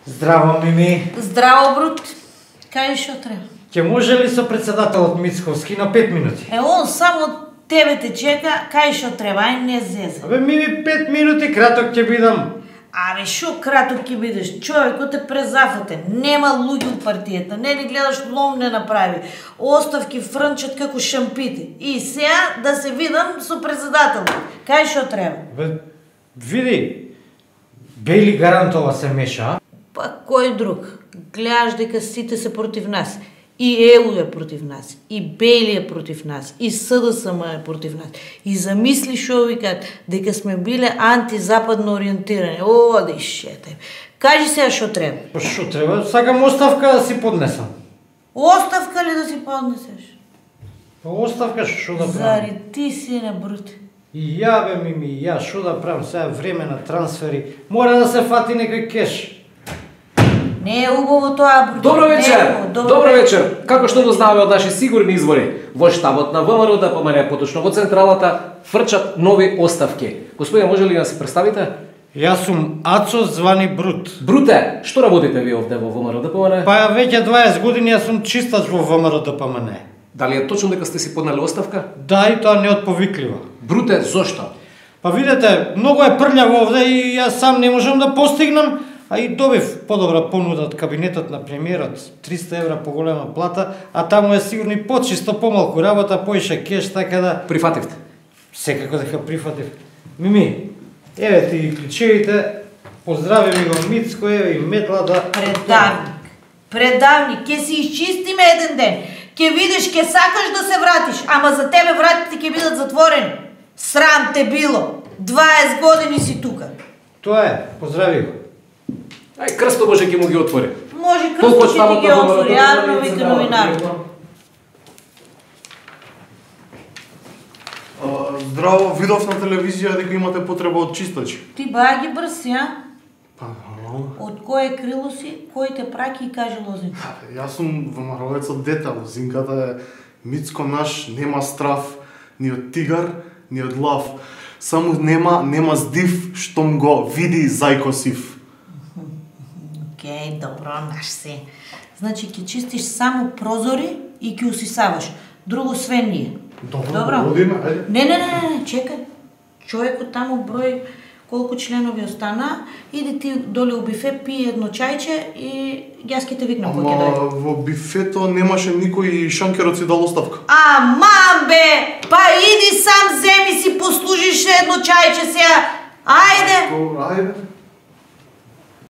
Здраво, Мими. Здраво, Брут. Кај што треба? Ќе може ли со председателот Мицковски на 5 минути? Он само тебе те чека, кај што треба, ај не зезе. Абе, Мими, 5 минути краток ќе бидам. Абе, шо краток ќе бидеш? Човекот е презафатен. Нема луѓе од партијата. Не ни гледаш, лом не направи. Оставки фрнчат како шампити. И сега да се видам со председателот. Кај што треба? Бе, види, Бели Гарантова се меша. Па кој друг? Гледаш дека сите се против нас. И ЕУ е против нас, и Бели е против нас, и СДСМ е против нас. И замисли шо викаат, дека сме биле антизападно ориентирани. Оди шетај. Кажи сега шо треба. Па шо треба? Сакам оставка да си поднесам. Оставка ли да си поднесеш? Па оставка шо да правам? Зари ти си не Брут. И ја бе, Мими, ја шо да правам сега време на трансфери? Мора да се фати некој кеш. Не е убаво тоа, Брут. Добро вечер. Добро вечер. Како што го знаеме од наши сигурни извори, во штабот на ВМРО ДПМН, поточно во централата, фрчат нови оставки. Господине, може ли да се представите? Јас сум Ацо звани Брут. Бруте, што работите ви овде во ВМРО ДПМН? Па веќе 20 години јас сум чистач во ВМРО ДПМН. Дали е точно дека сте си поднели оставка? Да, и тоа не од повиклива. Бруте, зошто? Па видете, многу е прљаво овде и јас сам не можам да постигнам, а и добив подобра понуда од кабинетот на премиерот, 300 евра поголема плата, а таму е сигурно и почисто помалку работа, поише кеш, така да... Прифативте? Секако дека прифатив. Мими, еве ти клучевите, поздрави ми го Мицко, еве и метлата... Предавник, ќе си изчистиме еден ден. Ќе видиш, ќе сакаш да се вратиш, ама за тебе вратите ќе бидат затворени. Срам те било. 20 години си тука. Тоа е, поздрави го. Ај, Крсто може ќе му ги отвори. Може Крсто ќе ти ги отвори, јавно вика новинар. Здраво, видов на телевизија дека имате потреба од чистачи. Ти баја ги брси, а? Па, Од кое крило си, кој те праки и каже Лозинка? јас сум ВМРО-ец од дете, Лозинката е Мицко наш, нема страв ни од тигар, ни од лав. Само нема здив, штом го види зајко сив. Океј, добро, наш се. Значи, ќе чистиш само прозори и ќе усисаваш. Друго све ние. Добро, година, ајде. Не, чекај. Човекот таму број колку членови остана, иди ти доле у бифе, пи едно чајче и јас ќе те викнам кој ќе дојде. Ама во бифето немаше никој шанкерот си дал оставка. Аман бе! Па иди сам земи си послужиш едно чајче сега. Ајде! Ајде.